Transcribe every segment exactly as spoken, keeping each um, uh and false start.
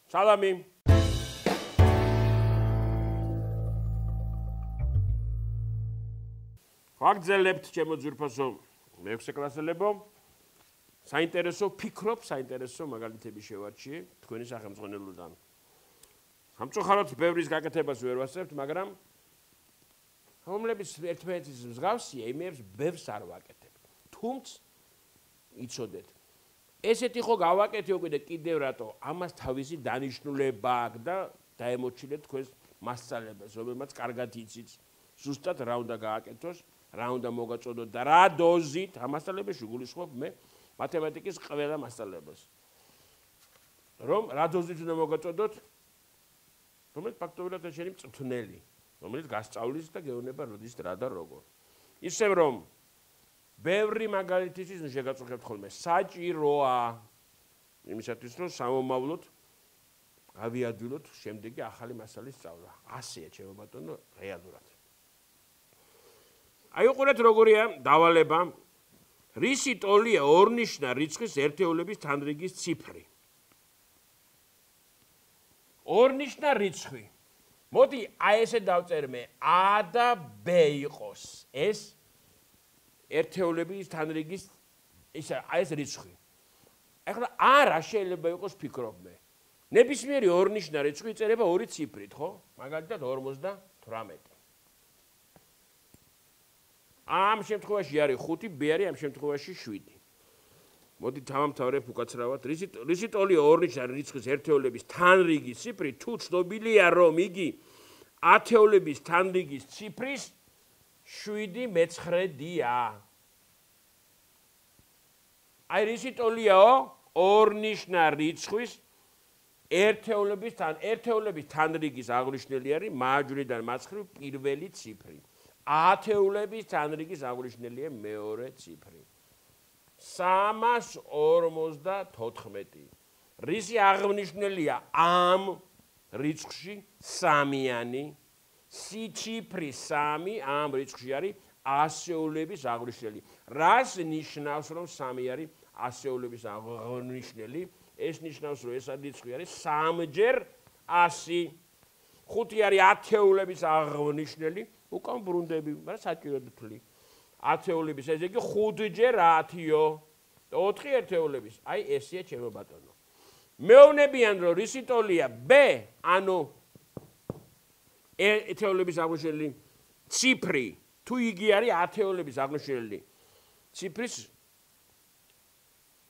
სალამი. ვაგრძელებთ ჩემო ძვირფასო მეექვსე კლასელებო. საინტერესო ფიქრობ, საინტერესო მაგალითები შევარჩიე თქვენი სახელმძღვანელოდან. სამწუხაროდ ბევრის გაკეთებას ვერ ვასწრებთ, მაგრამ რომლების ერთმანეთის მსგავსია, იმებს ბევრს არ ვაკეთებ. თუმცა იცოდეთ, ესეთი ხო გავაკეთე უკვე და კიდევ რატო ამას თავისი დანიშნულება აქვს და დაემოჩილეთ თქვენს მასწავლებლებს, რომელმაც კარგად იცით ზუსტად რა უნდა გააკეთოს, რა უნდა მოგაწოდოთ და რა დოზით ამასწავლებელში გულისხმობ მე მათემატიკის ყველა მასწავლებლებს. რომ რა დოზით უნდა მოგაწოდოთ, რომელიც ფაქტობრივად შენი მწვრთნელი, რომელიც გასწავლის და გეუბნება როდის რა და როგორ. ისევ რომ ბევრი მაგალითისთვის შეგაწუხებთ ხოლმე, საჭიროა იმისათვის რომ სამომავლოდ გავიადვილოთ შემდეგი ახალი მასალის სწავლა. ასეა ჩემო ბატონო რეალურად. აი უყურეთ როგორია დავალება რისი ტოლია ორნიშნა რიცხვის ერთეულების თანრიგის ციფრი. ორნიშნა რიცხვი. მოდი აი ესე დავწერმე A და B იყოს ეს ერთეულების თანრიგის ისა აი ეს რიცხვი. ახლა არა შეიძლება იყოს ფიქრობ მე. ნებისმიერი ორნიშნა რიცხვი იწერება ორი ციფრით, ხო? მაგალითად ორმოცდათვრამეტი. ამ შემთხვევაში არის ხუთი, B არის ამ შემთხვევაში შვიდი. მოდი დავამთავრებ უკაცრავად. რისი ტოლია ორნიშნა რიცხვის ერთეულების თანრიგის ციფრი, თუ ცნობილია რომ იგი ათეულების თანრიგის ციფრის შვიდი მეცხრედია. აი რისი ტოლიაო ორნიშნა რიცხვის ერთეულების თან ერთეულების თანრიგის აღნიშნელი არის მარჯვნიდან მარცხნივ პირველი ციფრი. ათეულების თანრიგის აღნიშნელია მეორე ციფრი. სამას ორმოცდათოთხმეტი. რისი აღნიშნელია ამ რიცხვში სამიანი, სიციფრი სამი ამ რიცხვში არის ასეულების აღნიშნელი. რას ნიშნავს რომ სამი არის ასეულების აღნიშნელი? ეს ნიშნავს რომ ეს რიცხვი არის სამჯერ ასი. ხუთი არის ათეულების აღნიშნელი, უკან ბრუნდები, მაგრამ საჭიროდ ვთვლი. ათეულების ესე იგი ხუთჯერ ათიო. ოთხი ერთეულების. აი ესეა ჩემო ბატონო. მეუბნებიან რომ რისი ტოლია B, ანუ ერთეულების აღნიშნელი ციფრი, თუ იგი არის ათეულების აღნიშნელი ციფრის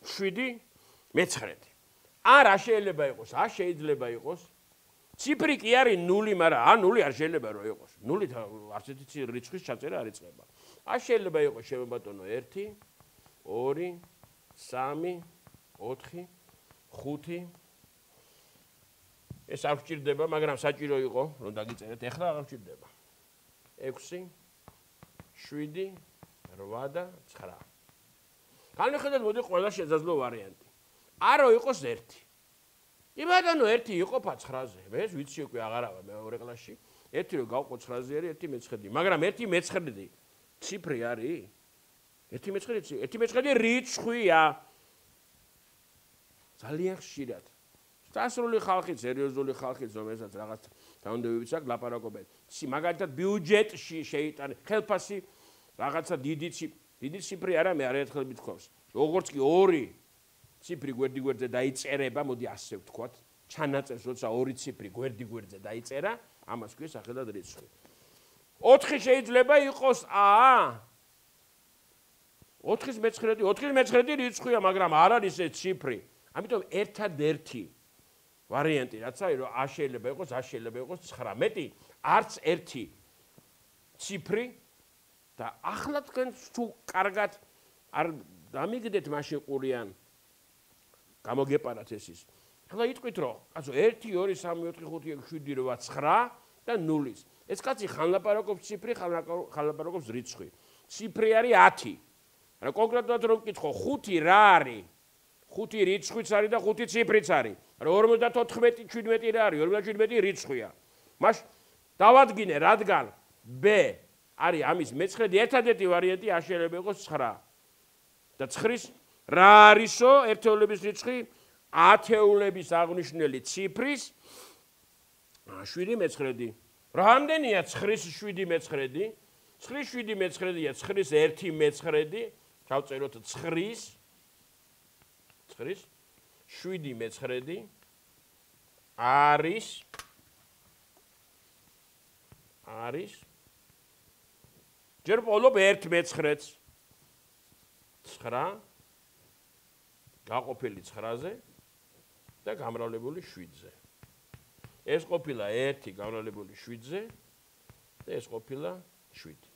შვიდი მეცხრედი. არა შეიძლება იყოს, არ შეიძლება იყოს. ციფრი კი არის ნული, მაგრამ ა ნული არ შეიძლება რომ იყოს. ნულით არც ერთი რიცხვის ჩაწერა არ იწყება. არ შეიძლება იყოს ჩემო ბატონო ერთი, ორი, სამი, ოთხი, ხუთი. ეს არ გვჭირდება, მაგრამ საჭირო იყო რომ დაგიწერეთ. ეხლა აღარ გვჭირდება. ექვსი, შვიდი, რვა და ცხრა. განვიხედოთ მოდი ყველა შესაძლო ვარიანტი. არო იყოს ერთი. კი ბატონო ერთი იყოფა ცხრაზე. მე ეს ვიცი უკვე აღარავა მეორე კლასში. ერთი რო გავყო ცხრაზე არის ერთი მეცხრედი. მაგრამ ერთი მეცხრედი ციფრი არის? ერთი მეცხრედი, ერთი მეცხრედი რიცხვია. ძალიან ხშირად. დასრული ხალხი, სერიოზული ხალხი, რომელსაც რაღაც დაუნდობებიც აქვს, ლაპარაკობენ. მაგალითად ბიუჯეტში შეიტანე ხელფასი რაღაცა დიდი ციფრი, დიდი ციფრი არა, მე არაერთხელ მithქვავს. როგორც კი ორი ციფრი გვერდი გვერდზე დაიწერება, მოდი ასე ვთქვათ, ჩანაწერს, როცა ორი ციფრი გვერდი გვერდზე დაიწერა, ამას ქვია სახელად რიცხვი. ოთხი შეიძლება იყოს A. ოთხის მეცხრედი, ოთხის მეცხრედი რიცხვია, მაგრამ არ არის ეს ციფრი. ამიტომ ერთადერთი ვარიანტი რაც არის, რომ A შეიძლება იყოს, A შეიძლება იყოს ცხრამეტი, არც ერთი ციფრი და ახლა თქვენ თუ კარგად არ დამიგდეთ მაშინ ყურიან გამოგეპარათ ეს ის. ახლა იტყვით რომ, კაცო ერთი, ორი, სამი, ოთხი, ხუთი, ექვსი, შვიდი, რვა, ცხრა და ნულის. ეს კაცი ხან ლაპარაკობს ციფრი, ხან ლაპარაკობს რიცხვი. ციფრი არის ათი. რა კონკრეტულად რომ ვკითხო, ხუთი რა არის? ხუთი რიცხვიც არის და ხუთი ციფრიც არის. რა ორმოცდათოთხმეტი, შვიდმეტი რა არის? ორმოცდაშვიდმეტი რიცხვია. მაშ დავადგინე, რადგან B არის ამის მეცხრედი, ერთადერთი ვარიანტი შეიძლება იყოს ცხრა. და ცხრის რა არისო ერთეულების რიცხვი? ათეულების აღნიშნული ციფრის შვიდი მეცხრედი. რამდენია ცხრის შვიდი მეცხრედი? ცხრის შვიდი მეცხრედია ცხრის ერთი მეცხრედი. ჩავწეროთ ცხრის ცხრის შვიდი მეცხრედი არის არის ჯერ ვყოლობ ერთ მეცხრედს ცხრა გაყოფილი ცხრაზე და გამრავლებული შვიდზე. ეს ყოფილა ერთი გამრავლებული შვიდზე და ეს ყოფილა შვიდი.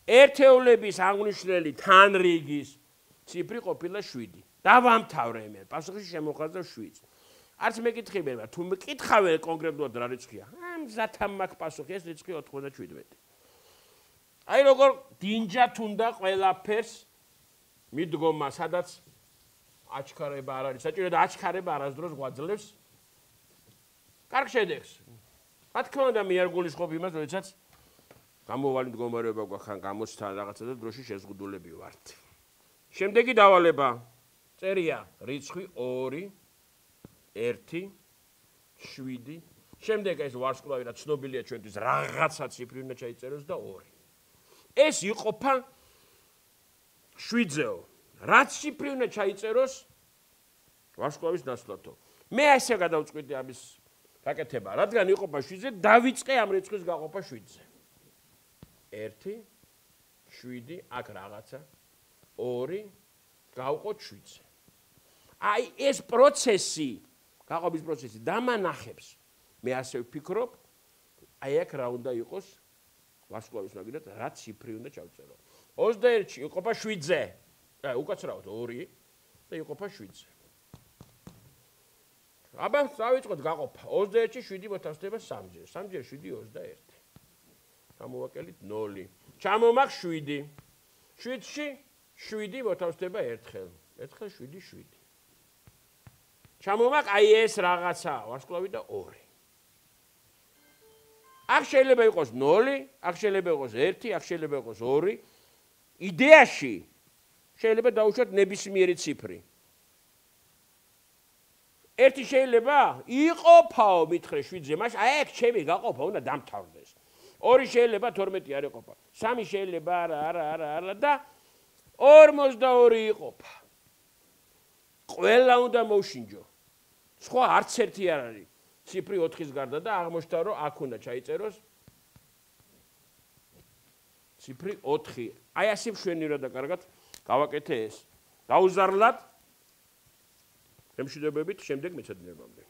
ერთეულების აღნიშნული თანრიგის ციფრი ყოფილა შვიდი. დავამთავრე მე, პასუხში შემოხაზდა შვიდს. არც მეკითხებია, თუ მეკითხავენ კონკრეტულად რა რიცხვია, მზად მაქვს პასუხი, ეს რიცხვი ოთხმოცდაშვიდმეტი. აი როგორ დინჯათ უნდა ყველაფერს მიდგომა, სადაც აჩქარება არ არის საჭირო და აჩქარება არასდროს გვაძლევს კარგ შედეგს. რა თქმა უნდა, მე არ გულისხმობ იმას, როდესაც გამოვალი მდგომარეობა გვაქვს ან გამოცთან რაღაცა და დროში შეზღუდულები ვართ. შემდეგი დავალება წერია რიცხვი ორი, ერთი, შვიდი. შემდეგ ეს ვარსკვლავი რა ცნობილია ჩვენთვის რაღაცა ციფრი უნდა ჩაიწეროს და ორი. ეს იყოფა შვიდზეო. რაც ციფრი უნდა ჩაიწეროს ვარსკვლავის ნაცვლადო. მე ასე გადავწყვიტე ამის გაკეთება, რადგან იყოფა შვიდზე, დავიწყე ამ რიცხვის გაყოფა შვიდზე. ერთი, შვიდი, აქ რაღაცა, ორი, გავყოთ შვიდზე. აი ეს პროცესი, გაყოფის პროცესი დამანახებს. მე ასე ვფიქრობ, აი აქ რა უნდა იყოს ვარსკვლავის მაგალითად, რა ციფრი უნდა ჩავწერო. ოცდაერთში იყოფა შვიდზე. აი უკაცრავად ორი და იყოფა შვიდზე. აბა დავიწყოთ გაყოფა. ოცდაერთში შვიდი მოთავსდება სამჯერ. სამჯერ შვიდი ოცდაერთი. ჩამოვაკელით ნული. ჩამომახ შვიდი. შვიდში შვიდი მოთავსდება ერთხელ. ერთხელ შვიდი შვიდი. ჩამომახ აი ეს რაღაცა ვარსკვლავი და ორი. აქ შეიძლება იყოს ნული, აქ შეიძლება იყოს ერთი, აქ შეიძლება იყოს ორი. იდეაში შეიძლება დავუშვათ ნებისმიერი ციფრი. ერთი შეიძლება იყოფაო მითხრე შვიდზე, მაშინ აი აქ ჩემი გაყოფა უნდა დამთავრდეს. ორი შეიძლება თორმეტი არ იყოფა. სამი შეიძლება არა, არა, არა, არა და ორმოცდაორი იყოფა. ყველა უნდა მოვშინჯო. სხვა არც ერთი არ არის. ციფრი ოთხის გარდა და აღმოჩნდა რომ აქ უნდა ჩაიწეროს ციფრი ოთხი. აი ასე მშვენივრად და კარგად გავაკეთე ეს. გაუზარლად ემშვიდობებით შემდეგ მეცადინებამდე.